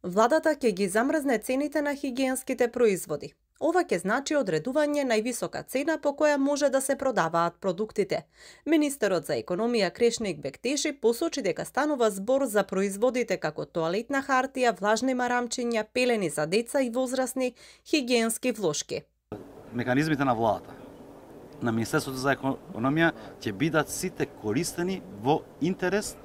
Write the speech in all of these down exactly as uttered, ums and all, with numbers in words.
Владата ќе ги замрзне цените на хигиенските производи. Ова ќе значи одредување највисока цена по која може да се продаваат продуктите. Министерот за економија Крешник Бектеши посочи дека станува збор за производите како тоалетна хартија, влажни марамчиња, пелени за деца и возрасни, хигиенски влошки. Механизмите на владата, на Министерството за економија ќе бидат сите користени во интерес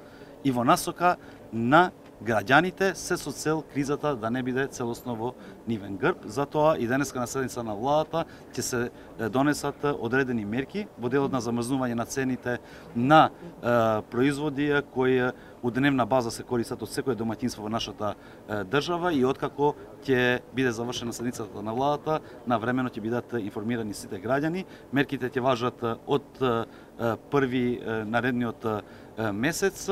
и во насока на граѓаните, се со цел кризата да не биде целосно во нивен грб. Затоа и денеска на седница на владата ќе се донесат одредени мерки во делот на замрзнување на цените на е, производи кои у дневна база се користат од секое домаќинство во нашата е, држава и откако ќе биде завршена седницата на владата, на времено ќе бидат информирани сите граѓани. Мерките ќе важат од е, први е, наредниот е, месец,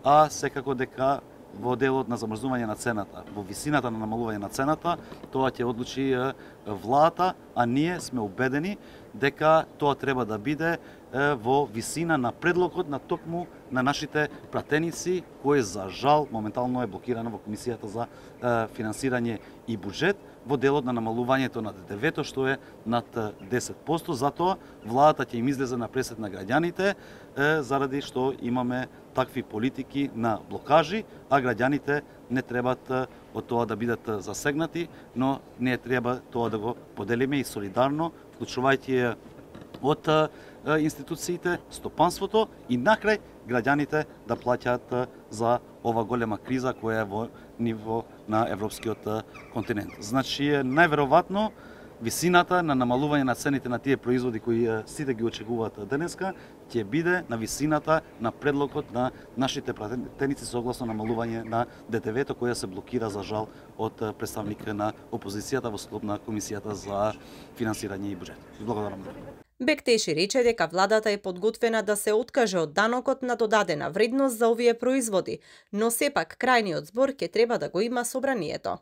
а секако дека во делот на замрзнување на цената, во висината на намалување на цената, тоа ќе одлучи владата, а ние сме убедени дека тоа треба да биде во висина на предлогот на токму на нашите пратеници, кој за жал моментално е блокирана во Комисијата за финансирање и буџет во делот на намалувањето на Д Д В-то, што е над десет проценти. Затоа владата ќе им излезе на пресет на граѓаните, заради што имаме такви политики на блокажи, а граѓаните не требат од тоа да бидат засегнати, но не треба тоа да го поделиме и солидарно, вклучувајќи од институциите, стопанството и накрај граѓаните да плаќаат за ова голема криза која е во ниво на европскиот континент. Значи, најверојатно висината на намалување на цените на тие производи кои сите ги очекуваат денеска ќе биде на висината на предлогот на нашите пратеници согласно намалување на Д Д В-то која се блокира за жал од представник на опозицијата во склоп на Комисијата за финансирање и буџет. Благодарам. Бектеши рече дека владата е подготвена да се откаже од данокот на додадена вредност за овие производи, но сепак крајниот збор ќе треба да го има собранието.